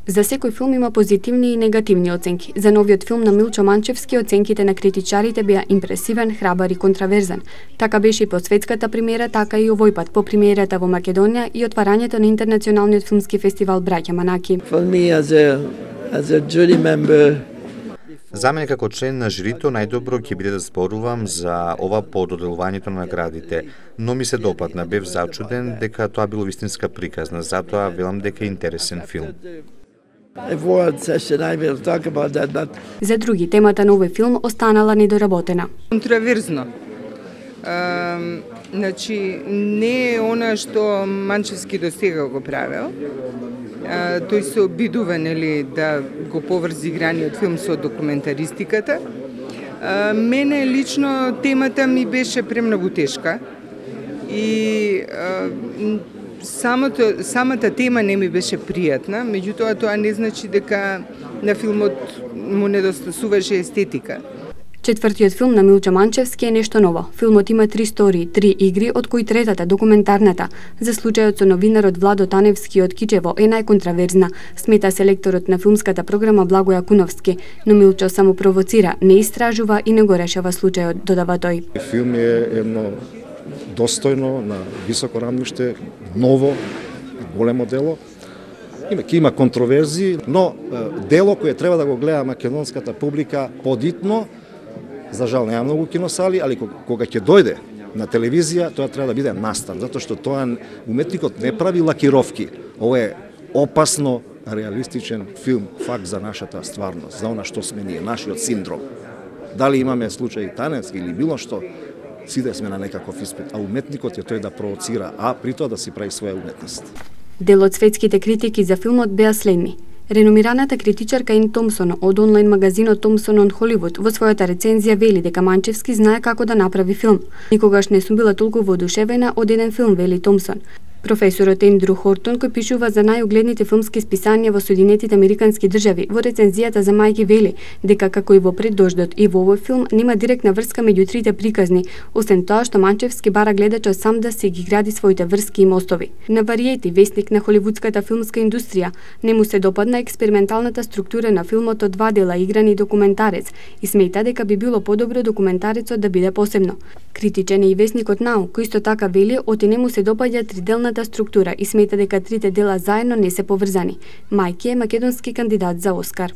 За секој филм има позитивни и негативни оценки. За новиот филм на Милчо Манчевски оценките на критичарите беа импресивен, храбар и контраверзен. Така беше и по светската премиера, така и овој пат по премиерата во Македонија и отварањето на интернационалниот филмски фестивал Браќа Манаки. За мене како член на жирито најдобро ќе биде да зборувам за ова по доделувањето на наградите, но ми се допадна, бев зачуден дека тоа било вистинска приказна, затоа велам дека е интересен филм. За други, темата на овој филм останала недоработена. Контраверзно. Значи, не е она што Манчевски до сега го правил. Тој се обидува, нели, да го поврзи играниот филм со документаристиката. Мене лично темата ми беше премногу тешка и самата тема не ми беше пријатна, меѓутоа тоа не значи дека на филмот му недостасуваше естетика. Четвртиот филм на Милчо Манчевски е нешто ново. Филмот има 3 истории, 3 игри, од кои третата, документарната, за случајот со новинарот Владо Таневски од Кичево е најконтраверзна, смета селекторот на филмската програма Благоја Куновски, но Милчо само провоцира, не истражува и не го решава случајот, додава тој. Филм е едно достојно, на високо рамниште, ново, големо дело. Има контроверзии, но дело кое треба да го гледа македонската публика подитно. За жал нема многу киносали, али кога ќе дојде на телевизија, тоа треба да биде настан, затоа што тоа уметникот не прави лакировки. Ова е опасно реалистичен филм, факт за нашата стварност, за она што сме ние, нашиот синдром. Дали имаме случај Таневски или било што, сите сме на некаков испит, а уметникот е тој да провоцира, а при тоа да си прави своја уметност. Дел од светските критики за филмот беа следни. Реномираната критичарка Ин Томсон од онлайн магазинот Томсон on Hollywood во својата рецензија вели дека Манчевски знае како да направи филм. Никогаш не сум била толку воодушевена од еден филм, вели Томсон. Професорот Ендрю Хортон, кој пишува за најугледните филмски списанија во Соединетите Американски држави, во рецензијата за Мајки вели дека како и во Пред дождот и во овој филм нема директна врска меѓу трите приказни, освен тоа што Манчевски бара гледачот сам да си ги гради своите врски и мостови. На Вариети, вестник на холивудската филмска индустрија, не му се допадна експерименталната структура на филмот од 2 дела играни документарец и смета дека би било подобро документарецот да биде посебно. Критичен е и вестникот Нау, кој исто така вели оти не му се допаѓа триделната структура и смета дека трите дела заедно не се поврзани. Мајки е македонски кандидат за Оскар.